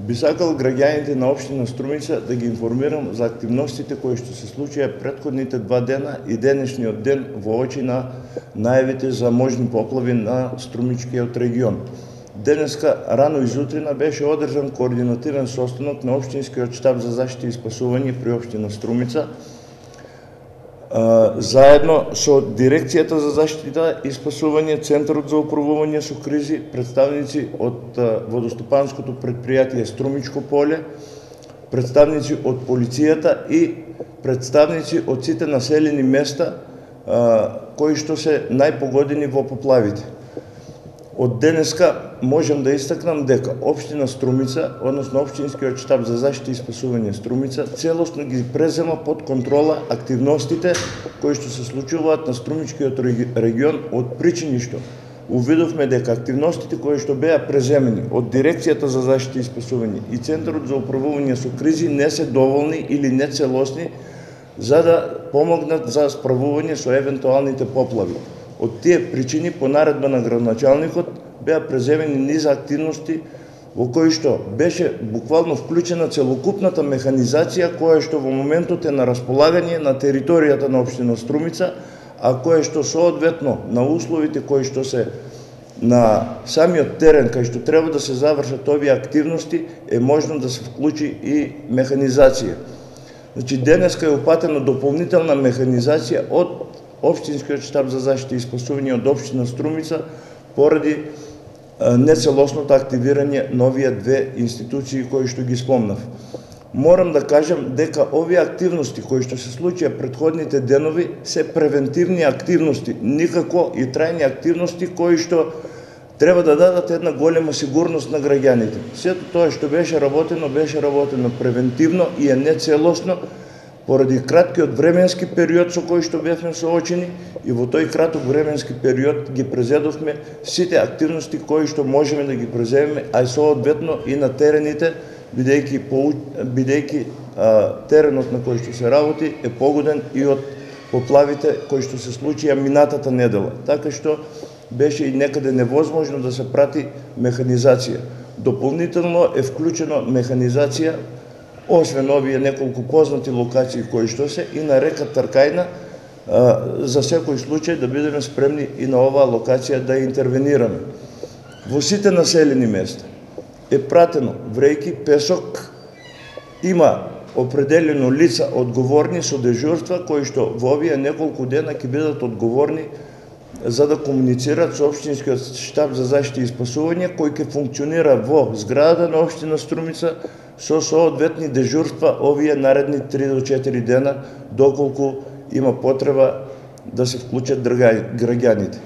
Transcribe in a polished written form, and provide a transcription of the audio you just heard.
Би сакал граѓаните на општина Струмица да ги информирам за активностите кои што се случија претходните 2 дена и денешниот ден во очи на најавите за можни поплави на Струмичкиот регион. Денеска рано изутрина беше одржан координативен состанок на општинскиот штаб за заштита и спасување при општина Струмица, заедно со Дирекцијата за заштита и спасување, Центарот за управување со кризи, представници од водостопанското предпријатие Струмичко поле, представници од полицијата и представници од сите населени места кои што се најпогодени во поплавите. Од денеска можам да истакнам дека општина Струмица, односно општинскиот штаб за заштита и спасување Струмица, целосно ги презема под контрола активностите кои што се случуваат на Струмичкиот регион, од причини што увидовме дека активностите кои што беа преземени од Дирекцијата за заштита и спасување и Центарот за управување со кризи не се доволни или не целосни за да помогнат за справување со евентуалните поплави. Од тие причини, по наредба на градоначалникот, беа преземени низ активности во кои што беше буквално вклучена целокупната механизација која што во моментот е на располагање на територијата на општина Струмица, а која што соодветно на условите кои што се на самиот терен кај што треба да се завршат овие активности е можно да се вклучи и механизација. Значи денеска е упатена дополнителна механизација од Општинскиот штаб за заштита и спасување од општина Струмица поради нецелосното активирање на овие 2 институции кои што ги спомнав. Морам да кажам дека овие активности кои што се случија претходните денови се превентивни активности, никако и трајни активности кои што треба да дадат една голема сигурност на граѓаните. Сето тоа што беше работено превентивно и е нецелосно, поради краткиот временски период со кој што бевме соочени и во тој краток временски период ги презедовме сите активности кои што можеме да ги преземеме, а и соодветно и на терените, бидејќи теренот на кој што се работи е погоден и од поплавите кои што се случија минатата недела. Така што беше и некаде невозможно да се прати механизација. Дополнително е вклучено механизација освен овие неколку познати локации кои што се и на река Тркајна, за секој случај да бидеме спремни и на оваа локација да интервенираме. Во сите населени места е пратено врејки, песок, има определено лица одговорни со дежурства кои што во овие неколку дена ќе бидат одговорни за да комуницират со општинскиот штаб за заштита и спасување кој ќе функционира во зградата на општина Струмица со соодветни дежурства овие наредни 3 до 4 дена, доколку има потреба да се вклучат граѓаните.